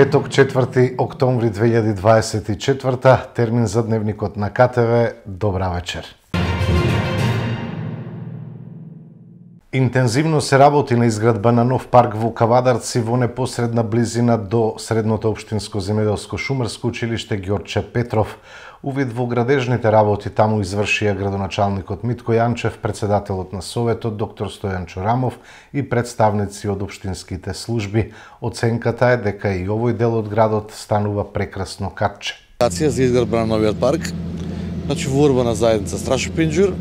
Петок, 4 октомври 2024, термин за дневникот на КТВ. Добра вечер. Интензивно се работи на изградба на нов парк во Кавадарци во непосредна близина до Средното општинско земјоделско шумарско училиште Ѓорче Петров. Увид во градежните работи таму извршија градоначалникот Митко Јанчев, председателот на Советот доктор Стојан Чорамов и представници од општинските служби. Оценката е дека и овој дел од градот станува прекрасно катче. За изградба на новиот парк, значи во урбана заедница Страшо Пинџур,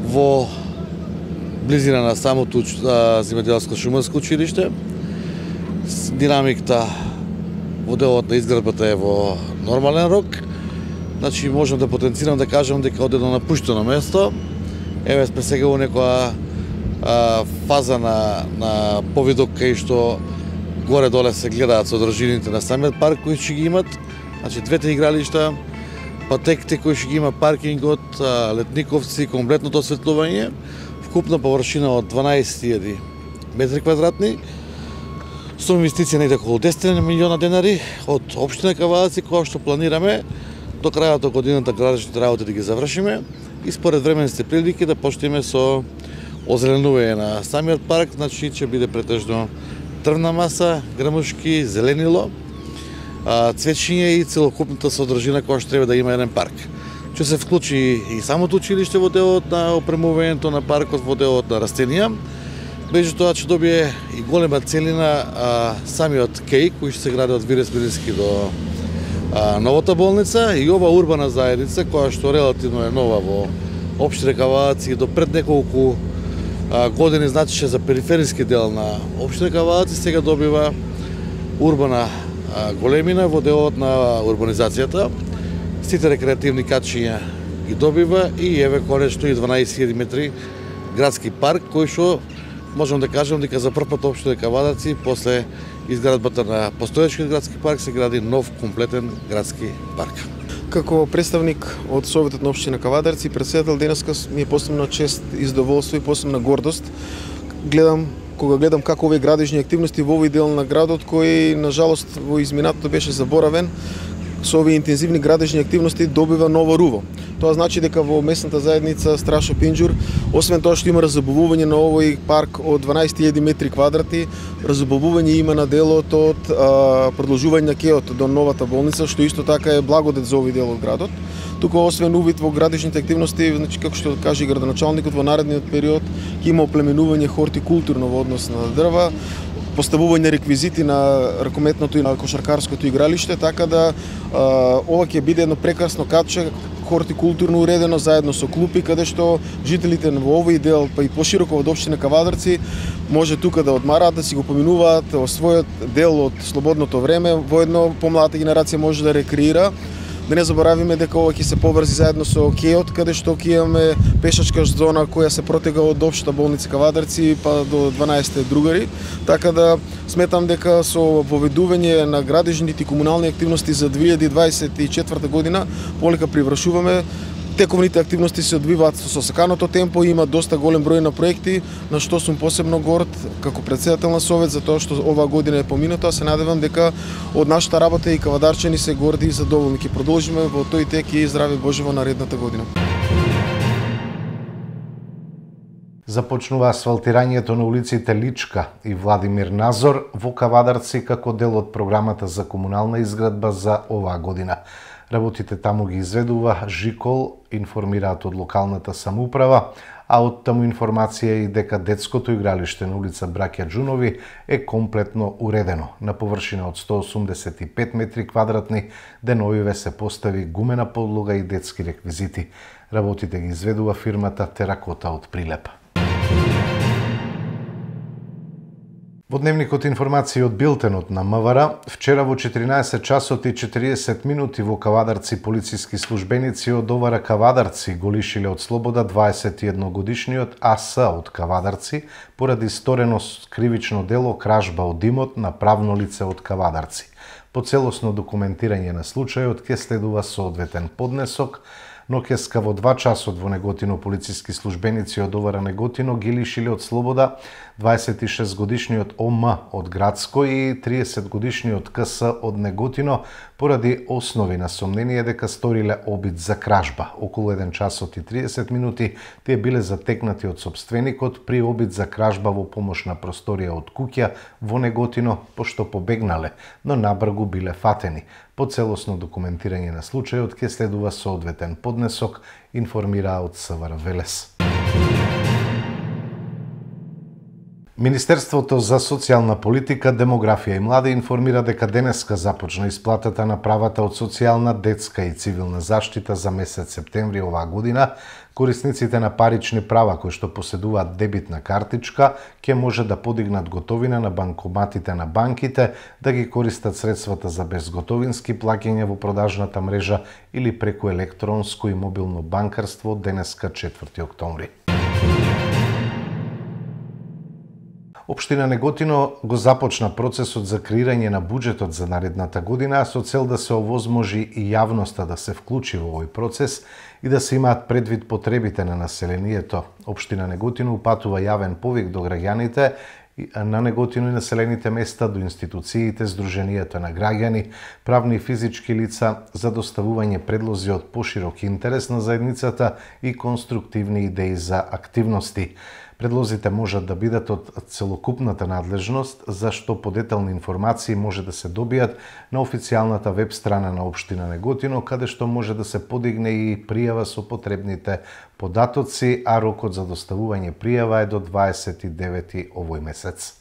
во близина на самото земјоделско шумарско училиште. Динамиката во делот на изградбата е во нормален рок. Значи можам да потенцирам да кажам дека од едно напуштено место, еве сме сега во некоја фаза на повидок кај што горе-доле се гледаат содржините на самиот парк кои ќе ги имат, значи двете игралишта, патеките кои ќе ги има, паркингот, летниковци, комплетното осветлување, вкупна површина од 12.000 метри квадратни, со инвестиција негде околу 10 милиона денари од општина Кавадарци, која што планираме до крајот од годината градежните работи да ги завршиме и според временските прилики да почнеме со озеленување на самиот парк, значи ќе биде претежно дрвна маса, грмушки, зеленило, цвечиња и целокупната содржина која што треба да има еден парк. Ќе се вклучи и самото училиште во делот на опремувањето на паркот, во делот на растенија. Меѓу тоа ќе добие и голема целина самиот кеј кој ќе се гради од Вирес Билински до новата болница и ова урбана заедница која што релативно е нова во општина Кавадарци, до пред неколку години значеше за перифериски дел на општина Кавадарци, сега добива урбана големина во делот на урбанизацијата. Сите рекреативни качиња ги добива и еве конечно и 12.000 метри градски парк кој што можам да кажам дека за прв пат општина Кавадарци после изградбата на постоечкиот градски парк се гради нов комплетен градски парк. Како представник од Советот на општина Кавадарци, председател, денеска ми е посебна чест и задоволство и посебна гордост. Кога гледам како овие градежни активности во овој дел на градот кој на жалост во изминатото беше заборавен, со овие интензивни градежни активности добива ново руво. Тоа значи дека во местната заедница Страшо Пинџур, освен тоа што има разубавување на овој парк од 12.000 метри квадрати, разубавување има на делот од продолжување на кеот до новата болница, што исто така е благодет за овој дел од градот. Тука освен увид во градежните активности, значи како што каже градоначалникот, во наредниот период ќе има оплеменување хортикултурно во однос на дрва, поставување реквизити на ракометното и на кошаркарското игралиште, така да ова ќе биде едно прекрасно катче, хортикултурно уредено заедно со клупи, каде што жителите во овој дел, па и пошироко од општина Кавадарци, може тука да одмараат, да си го поминуваат во својот дел од слободното време, воедно помладата генерација може да рекреира. Да не заборавиме дека ова ќе се поврзи заедно со кеот, каде што ќе имаме пешачка зона која се протега од општа болница Кавадарци па до 12 другари. Така да сметам дека со воведување на градежните и комунални активности за 2024 година полека привршуваме. Тековните активности се одвиваат со саканото темпо, има доста голем број на проекти, на што сум посебно горд како председател на Совет за тоа што оваа година е помината. Се надевам дека од нашата работа и кавадарчани се горди и задоволни. Ќе продолжиме во тој тек и здраве Боже во наредната година. Започнува асфалтирањето на улиците Личка и Владимир Назор во Кавадарци како дел од програмата за комунална изградба за оваа година. Работите таму ги изведува Жикол, информираат од локалната самоуправа, а од таму информација и дека детското игралиште на улица Браќа Џунови е комплетно уредено. На површина од 185 метри квадратни деновиве се постави гумена подлога и детски реквизити. Работите ги изведува фирмата Теракота од Прилепа. Во дневникот информации од билтенот на МВР, вчера во 14 часот и 40 минути во Кавадарци полициски службеници од ОВР Кавадарци го лишиле од слобода 21-годишниот АС од Кавадарци поради сторено кривично дело кражба од имот на правно лице од Кавадарци. По целосно документирање на случајот ќе следува соодветен поднесок. Ноќеска во 2 часот во Неготино полициски службеници од ОВР Неготино ги лишиле од слобода 26-годишниот ОМ од Градско и 30-годишниот КС од Неготино поради основи на сомнение дека сториле обид за кражба. Околу 1 часот и 30 минути тие биле затекнати од сопственикот при обид за кражба во помошна просторија од куќа во Неготино, пошто побегнале, но набргу биле фатени. По целосно документирање на случајот ќе следува соодветен поднесок, информира од СВР Велес. Министерството за социјална политика, демографија и млади информира дека денеска започна исплатата на правата од социјална, детска и цивилна заштита за месец септември оваа година. Корисниците на парични права кои што поседуваат дебитна картичка ќе може да подигнат готовина на банкоматите на банките, да ги користат средствата за безготовински плаќања во продажната мрежа или преку електронско и мобилно банкарство денеска 4 октомври. Општина Неготино го започна процесот за креирање на буџетот за наредната година со цел да се овозможи и јавноста да се вклучи во овој процес и да се имаат предвид потребите на населението. Општина Неготино упатува јавен повик до граѓаните на Неготино и населените места, до институциите, здруженијата на граѓани, правни и физички лица за доставување предлози од поширок интерес на заедницата и конструктивни идеи за активности. Предлозите можат да бидат од целокупната надлежност, за што подетални информации може да се добијат на официјалната веб страна на Општина Неготино, каде што може да се подигне и пријава со потребните податоци, а рокот за доставување пријава е до 29 овој месец.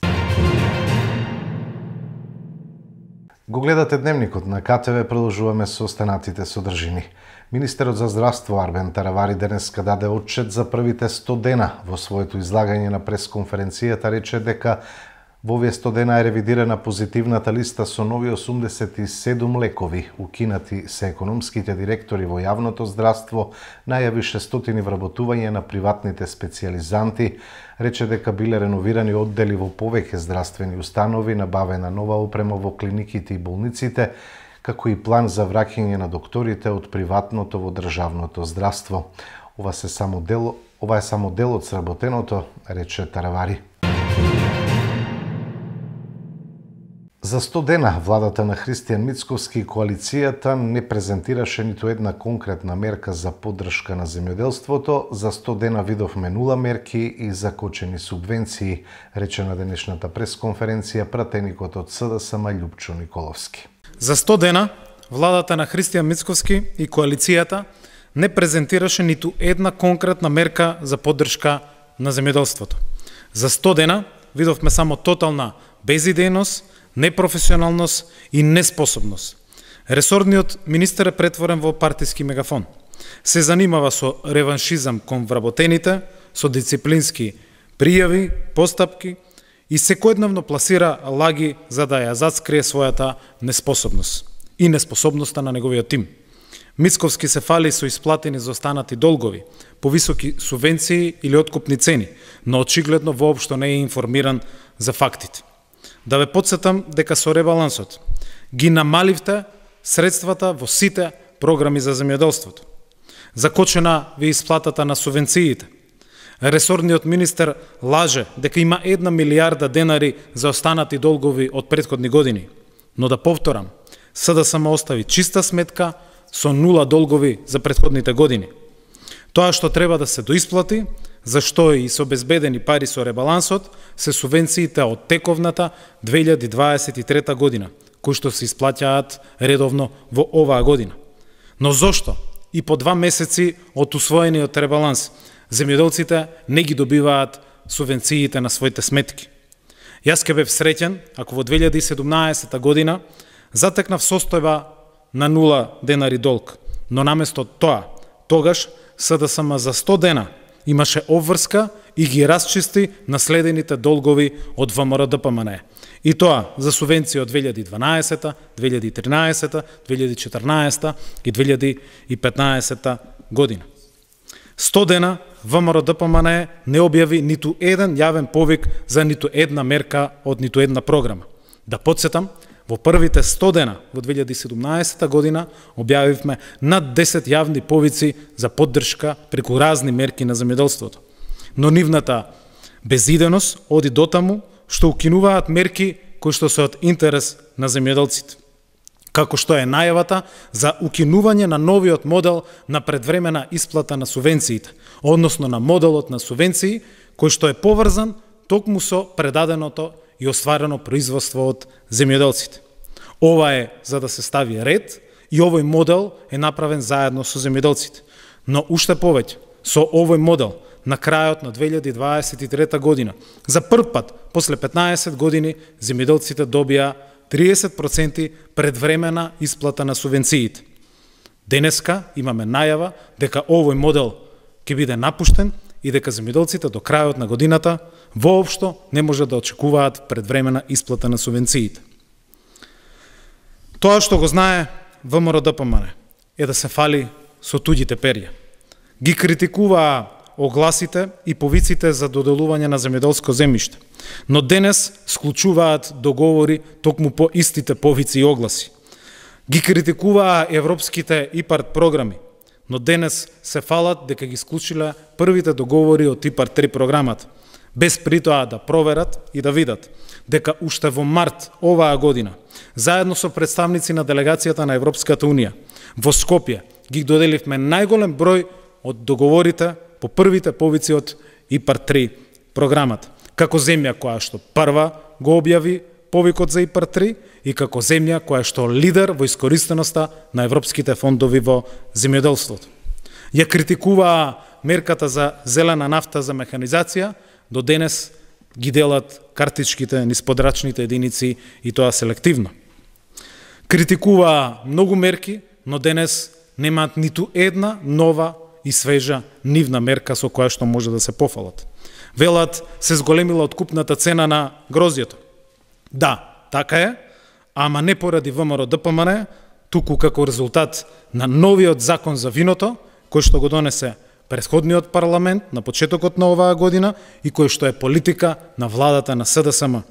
Го гледате Дневникот на КТВ, продолжуваме со останатите содржини. Министерот за здравство Арбен Таравари денеска даде отчет за првите 100 дена. Во своето излагање на пресконференцијата рече дека во овие 100 дена е ревидирана позитивната листа со нови 87 лекови. Укинати се економските директори во јавното здравство, најави 600 вработување на приватните специјализанти, рече дека биле реновирани оддели во повеќе здравствени установи, набавена нова опрема во клиниките и болниците, како и план за враќање на докторите од приватното во државното здравство. Ова е само дел од сработеното, рече Таравари. За 100 дена владата на Христијан Мицковски и коалицијата не презентираше ниту една конкретна мерка за поддршка на земјоделството. За 100 дена видовме 0 мерки и закочени субвенции, рече на денешната пресконференција пратеникот од СДСМ Љупчо Николовски. За 100 дена владата на Христијан Мицковски и коалицијата не презентираше ниту една конкретна мерка за поддршка на земјоделството. За 100 дена видовме само тотална безидејност, непрофесионалност и неспособност. Ресорниот министер е претворен во партиски мегафон. Се занимава со реваншизам кон вработените, со дисциплински пријави, постапки и секојдневно пласира лаги за да ја зацкрие својата неспособност и неспособноста на неговиот тим. Мицковски се фали со исплатени за останати долгови, повисоки субвенции или откупни цени, но очигледно воопшто не е информиран за фактите. Да ве подсетам дека со ребалансот ги намаливте средствата во сите програми за земјоделството. Закочена ви исплатата на субвенциите. Ресорниот министер лаже дека има 1 милијарда денари за останати долгови од претходни години. Но да повторам, СДСМ остави чиста сметка со 0 долгови за претходните години. Тоа што треба да се доисплати, зашто и со обезбедени пари со ребалансот, се субвенциите од тековната 2023 година, кои што се исплаќаат редовно во оваа година. Но зошто и по 2 месеци од усвоениот ребаланс земјоделците не ги добиваат субвенциите на своите сметки? Јас ке бев среќен ако во 2017 година затекнав состојба на 0 денари долг, но наместо тоа, тогаш СДСМ за 100 дена имаше обврска и ги расчисти наследените долгови од ВМРО-ДПМНЕ. И тоа за субвенции од 2012, 2013, 2014 и 2015 година. 100 дена ВМРО-ДПМНЕ не објави ниту еден јавен повик за ниту една мерка од ниту една програма. Да подсетам, Во првите 100 дена во 2017 година објавивме над 10 јавни повици за поддршка преку разни мерки на земјоделството. Но нивната безиденост оди дотаму што укинуваат мерки кои што се од интерес на земјоделците. Како што е најавата за укинување на новиот модел на предвремена исплата на субвенциите, односно на моделот на субвенции кој што е поврзан токму со предаденото и остварено производство од земјоделците. Ова е за да се стави ред и овој модел е направен заедно со земјоделците. Но уште повеќе, со овој модел на крајот на 2023 година, за прв пат после 15 години земјоделците добија 30% предвремена исплата на субвенциите. Денеска имаме најава дека овој модел ќе биде напуштен и дека земјоделците до крајот на годината воопшто не може да очекуваат предвремена исплата на субвенциите. Тоа што го знае ВМРО-ДПМН е да се фали со туѓите перја. Ги критикуваа огласите и повиците за доделување на земјоделско земјиште, но денес склучуваат договори токму по истите повици и огласи. Ги критикуваа европските ИПАРД програми, но денес се фалат дека ги склучиле првите договори од ИПАРД 3 програмата, без притоа да проверат и да видат дека уште во март оваа година, заедно со представници на делегацијата на Европската Унија, во Скопје ги доделивме најголем број од договорите по првите повици од ИПАРД 3 програмата, како земја која што прва го објави повикот за ИПАРД 3 и како земја која што лидер во искористеноста на европските фондови во земјоделството. Ја критикуваа мерката за зелена нафта за механизација, до денес ги делат картичките низ подрачните единици и тоа селективно. Критикуваа многу мерки, но денес немаат ниту една нова и свежа нивна мерка со која што може да се пофалат. Велат се зголемила откупната цена на грозјето. Да, така е, ама не поради ВМРО-ДПМН, туку како резултат на новиот закон за виното, кој што го донесе претходниот парламент на почетокот на оваа година и кој што е политика на владата на СДСМ.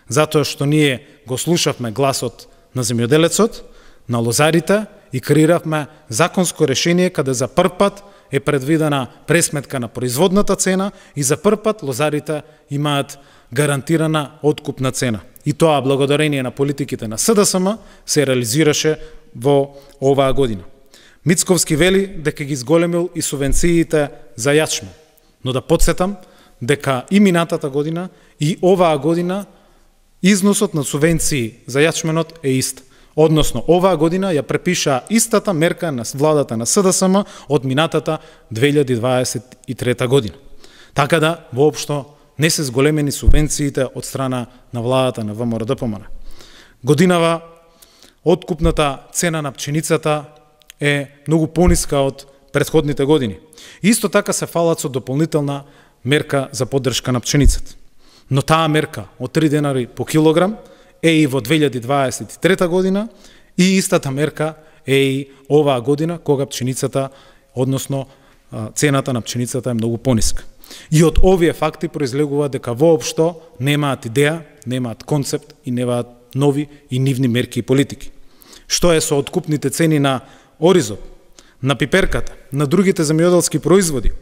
Затоа што ние го слушавме гласот на земјоделецот, на лозарите и креиравме законско решение каде за прв пат е предвидена пресметка на производната цена и за прв пат лозарите имаат гарантирана откупна цена. И тоа благодарение на политиките на СДСМ се реализираше во оваа година. Мицковски вели дека ги зголемил и субвенциите за јачмен, но да подсетам дека и минатата година и оваа година износот на субвенции за јачменот е ист. Односно, оваа година ја препиша истата мерка на владата на СДСМ од минатата 2023 година. Така да, воопшто, не се зголемени субвенциите од страна на владата на ВМРО-ДПМН. Годинава, откупната цена на пченицата е многу пониска од претходните години. Исто така се фалат со дополнителна мерка за поддршка на пченицата. Но таа мерка од 3 денари по килограм е и во 2023 година и истата мерка е и оваа година кога пченицата, односно цената на пченицата е многу пониска. И од овие факти произлегува дека воопшто немаат идеја, немаат концепт и немаат нови и нивни мерки и политики. Што е со откупните цени на оризот, на пиперката, на другите земјоделски производи?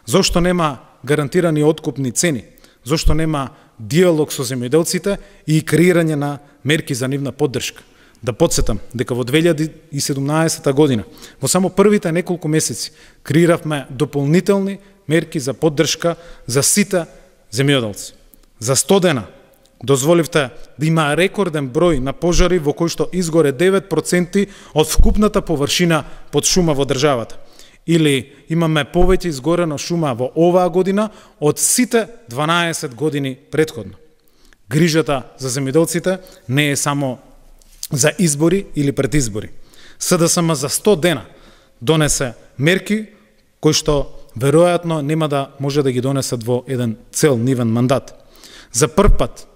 Зошто нема гарантирани откупни цени? Зошто нема диалог со земјоделците и креирање на мерки за нивна поддршка? Да подсетам дека во 2017 година, во само првите неколку месеци, креиравме дополнителни мерки за поддршка за сите земјоделци. За 100 дена дозволивте да има рекорден број на пожари во кој што изгоре 9% од вкупната површина под шума во државата. Или имаме повеќе изгорена шума во оваа година од сите 12 години претходно. Грижата за земјоделците не е само за избори или пред избори. СДСМ за 100 дена донесе мерки кои што веројатно нема да може да ги донесат во еден цел нивен мандат. За прв пат,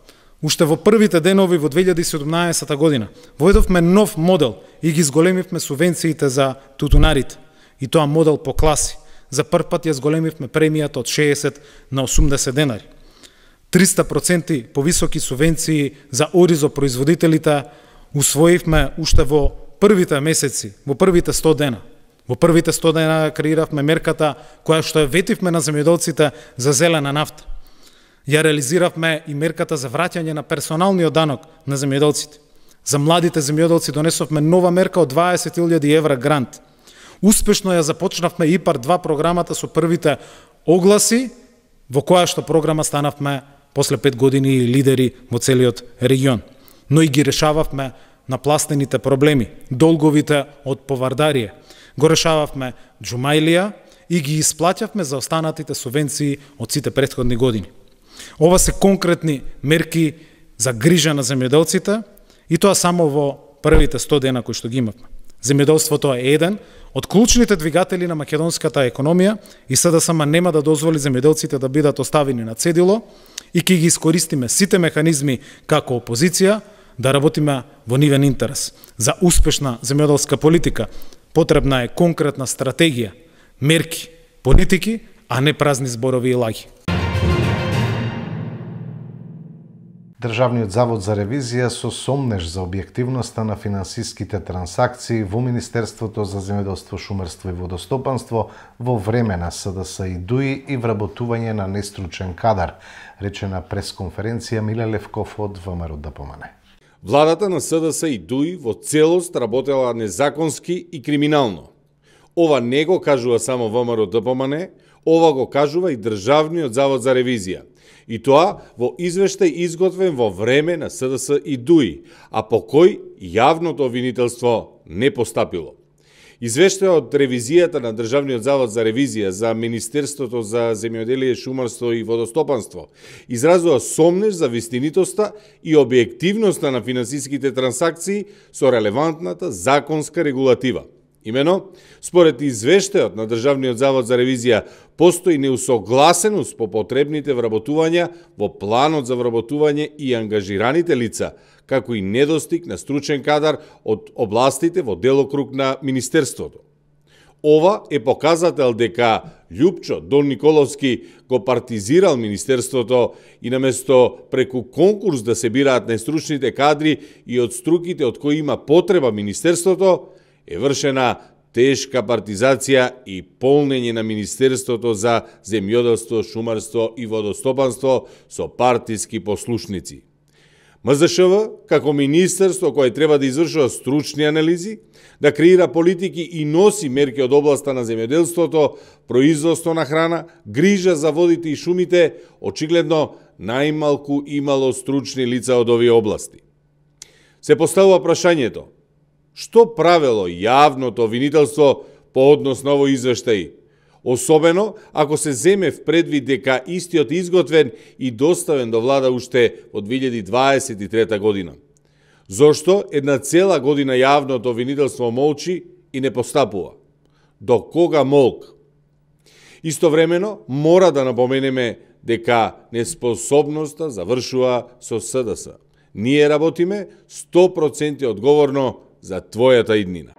уште во првите денови во 2017 година, воедовме нов модел и ги зголемивме субвенциите за тутунарите. И тоа модел по класи. За прв пат ја зголемивме премијата од 60 на 80 денари. 300% повисоки субвенции за оризопроизводителите усвоивме уште во првите месеци, во првите 100 дена. Во првите 100 дена креиравме мерката која што ја ветивме на земјоделците за зелена нафта. Ја реализиравме и мерката за враќање на персоналниот данок на земјоделците. За младите земјоделци донесовме нова мерка од 20.000 евра грант. Успешно ја започнавме ИПАР 2 програмата со првите огласи, во која што програма станавме после 5 години лидери во целиот регион. Но и ги решававме напластените проблеми, долговите од повардарие. Го решававме џумајлија и ги исплаќавме за останатите субвенции од сите претходни години. Ова се конкретни мерки за грижа на земјоделците и тоа само во првите 100 дена кои што ги имавме. Земјоделството е еден од клучните двигатели на македонската економија и СДСМ нема да дозволи земјоделците да бидат оставени на цедило и ќе ги искористиме сите механизми како опозиција да работиме во нивен интерес. За успешна земјоделска политика потребна е конкретна стратегија, мерки, политики, а не празни зборови и лаги. Државниот завод за ревизија со сомнеж за објективноста на финансиските трансакции во Министерството за земјоделство, шумарство и водостопанство во време на СДС и ДУИ и вработување на нестручен кадар, рече на пресконференција Миле Левков од ВМРО ДПМНЕ. Владата на СДС и ДУИ во целост работела незаконски и криминално. Ова не го кажува само ВМРО ДПМНЕ, ова го кажува и Државниот завод за ревизија. И тоа во извештај изготвен во време на СДС и ДУИ, а по кој јавното обвинителство не постапило. Извештајот од ревизијата на Државниот завод за ревизија за Министерството за земјоделие, шумарство и водостопанство изразува сомнеж за вистинитоста и објективноста на финансиските трансакции со релевантната законска регулатива. Имено, според извештајот на Државниот завод за ревизија, постои неусогласеност по потребните вработувања во планот за вработување и ангажираните лица, како и недостиг на стручен кадар од областите во делокруг на Министерството. Ова е показател дека Љупчо Дон Николовски го партизирал Министерството и наместо преку конкурс да се бираат најстручните кадри и од струките од кои има потреба Министерството, е вршена тешка партизација и полнење на Министерството за земјоделство, шумарство и водостопанство со партиски послушници. МЗШВ, како министерство кое треба да извршува стручни анализи, да креира политики и носи мерки од областа на земјоделството, производство на храна, грижа за водите и шумите, очигледно најмалку имало стручни лица од овие области. Се поставува прашањето: што правело јавното обвинителство по однос на овој извештај, особено ако се земе в предвид дека истиот изготвен и доставен до влада уште во 2023 година? Зошто една цела година јавното обвинителство молчи и не постапува? До кога молк? Истовремено, мора да напоменеме дека неспособноста завршува со СДС. Ние работиме 100% одговорно за твојата иднина.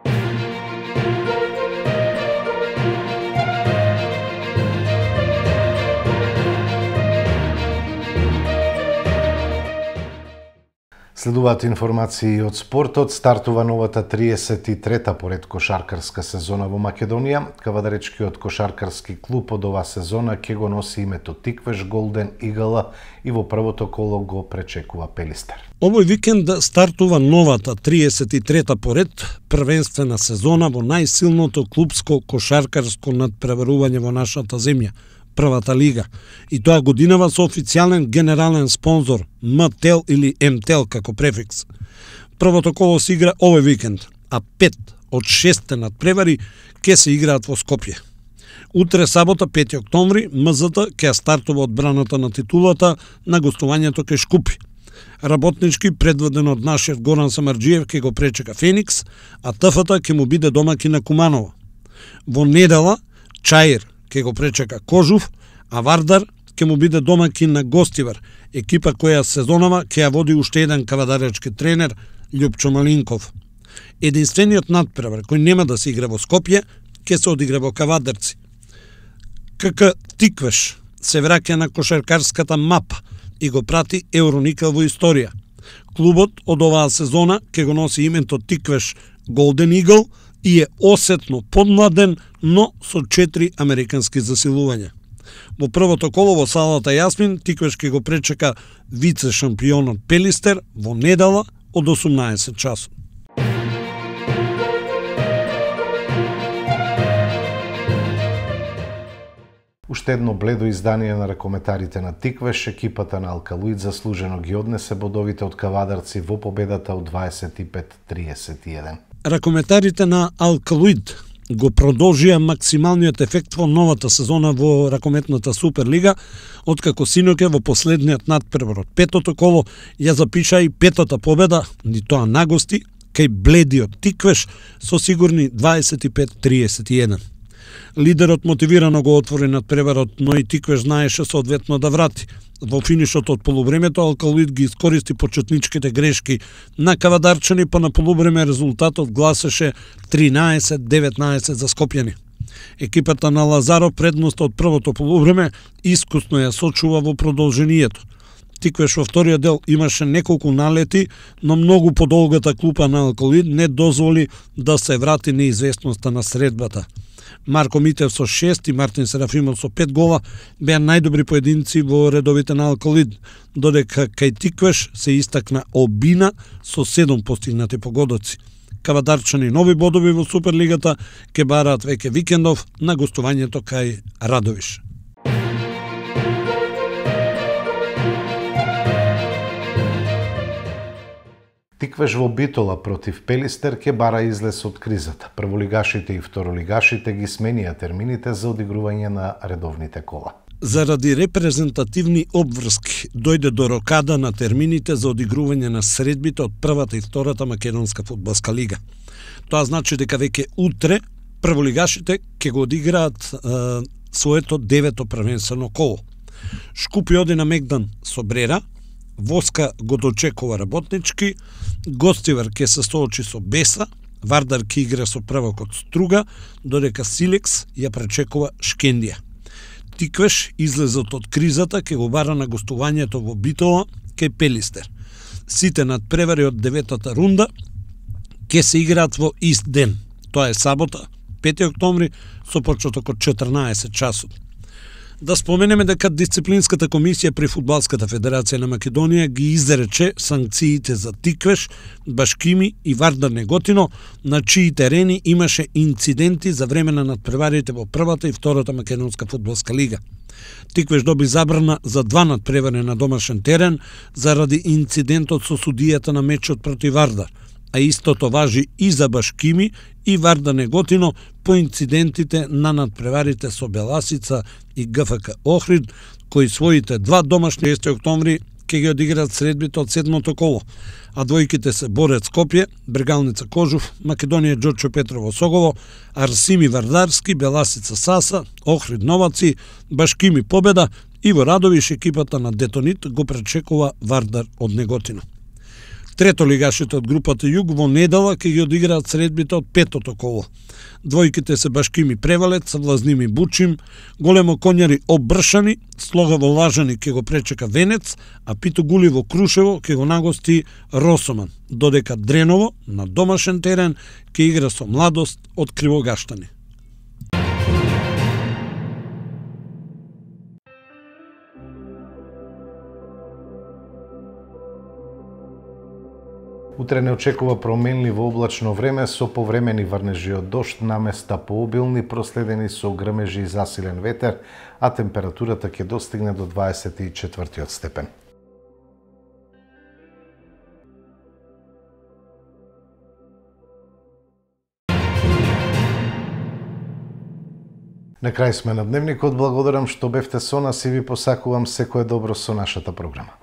Следуваат информации од спортот. Стартува новата 33-та поред кошаркарска сезона во Македонија. Кавадаречкиот кошаркарски клуб од ова сезона ќе го носи името Тиквеш Голден Игала и во првото коло го пречекува Пелистер. Овој викенд стартува новата 33-та поред првенствена сезона во најсилното клубско кошаркарско надпреварување во нашата земја, првата лига, и тоа годинава со официјален генерален спонзор МТЕЛ или МТЕЛ како префикс. Првото коло се игра овој викенд, а 5 од 6 надпревари ќе се играат во Скопје. Утре сабота 5 октомври МЗТ ќе стартува одбраната на титулата на гостувањето кај Шкупи. Работнички, предводен од нашиот Горан Самарџиев, ќе го пречека Феникс, а ТФТ ќе му биде домаќин на Куманово. Во недела Чаир ќе го пречека Кожув, а Вардар ќе му биде домаќин на Гостивар, екипа која сезонава ќе ја води уште еден кавадаречки тренер Љупчо Малинков. Единствениот надпревар кој нема да се игра во Скопје ќе се одигра во Кавадарци. КК Тиквеш се враќа на кошаркарската мапа и го прати Евроникел во историја. Клубот од оваа сезона ќе го носи името Тиквеш Голден Игл и е осетно подмладен, но со 4 американски засилувања. Во првото коло во салата Јасмин, Тиквеш ќе го пречека вице шампионот Пелистер во недела од 18 часот. Уште едно бледо издание на ракометарите на Тиквеш, екипата на Алкалуид заслужено ги однесе бодовите од кавадарци во победата од 25-31. Ракометарите на Алкалуид го продолжија максималниот ефект во новата сезона во ракометната Суперлига, откако синоќа во последниот надпревар од петото коло ја запиша и петата победа, ни тоа на гости, кај бледиот Тиквеш со сигурни 25-31. Лидерот мотивирано го отвори надпреварот, но и Тиквеш знаеше соодветно да врати. Во финишот од полувремето Алкалуид ги искористи почетничките грешки на кавадарчани, па на полувреме резултатот гласеше 13-19 за скопјани. Екипата на Лазаров предност од првото полувреме искусно ја сочува во продолжението. Тиквеш во вториот дел имаше неколку налети, но многу подолгата клупа на Алкалуид не дозволи да се врати неизвестноста на средбата. Марко Митев со 6 и Мартин Серафимов со 5 гола беа најдобри поединци во редовите на Алкалуид, додека кај Тиквеш се истакна Обина со 7 постигнати погодоци. Кавадарчани нови бодови во Суперлигата ке бараат веќе викендов на гостувањето кај Радовиш. Тиквеш во Битола против Пелистер ке бара излез од кризата. Прволигашите и второлигашите ги сменија термините за одигрување на редовните кола. Заради репрезентативни обврски дојде до рокада на термините за одигрување на средбите од првата и втората македонска фудбалска лига. Тоа значи дека веќе утре прволигашите ќе го одиграат своето 9-то првенствено коло. Шкупи оди на Мегдан со Брера, Воска го дочекува Работнички, Гостивар ќе се соочи со Беса, Вардар ќе игра со првокот Струга, додека Силекс ја пречекува Шкендија. Тиквеш излезот од кризата ќе го бара на гостувањето во Битола кај Пелистер. Сите надпревари од 9-та рунда ќе се играат во ист ден. Тоа е сабота, 5 октомври, со почеток од 14 часот. Да споменеме дека Дисциплинската комисија при Фудбалската федерација на Македонија ги изрече санкциите за Тиквеш, Башкими и Вардар Неготино, на чии терени имаше инциденти за време на надпреварите во првата и втората македонска фудбалска лига. Тиквеш доби забрана за 2 надпревари на домашен терен заради инцидентот со судијата на мечот против Вардар, а истото важи и за Башкими и Вардар Неготино по инцидентите на надпреварите со Беласица и ГФК Охрид, кои своите 2 домашни 6 октомври ќе ги одиграат средбите од 7-то коло, а двојките се Борец Скопје, Брегалница Кожув, Македонија Џорчо Петрово Согово, Арсими Вардарски, Беласица Саса, Охрид Новаци, Башкими Победа и во Радовиш екипата на Детонит го пречекува Вардар од Неготино. Трето лигашите од групата Југ во недела ќе ги одиграат средбите од 5-то коло. Двојките се Башкими Превалец, Влазними Бучим, Големо Конјари Обршани, Слогаво Лажани ќе го пречека Венец, а Пито Гуливо Крушево ќе го нагости Росоман, додека Дреново на домашен терен ќе игра со Младост од Кривогаштани. Утре не очекува променливо облачно време со повремени врнежи од дожд, наместа пообилни, проследени со грмежи и засилен ветер, а температурата ќе достигне до 24 степен. На крај сме на Дневникот, благодарам што бевте со нас и ви посакувам секое добро со нашата програма.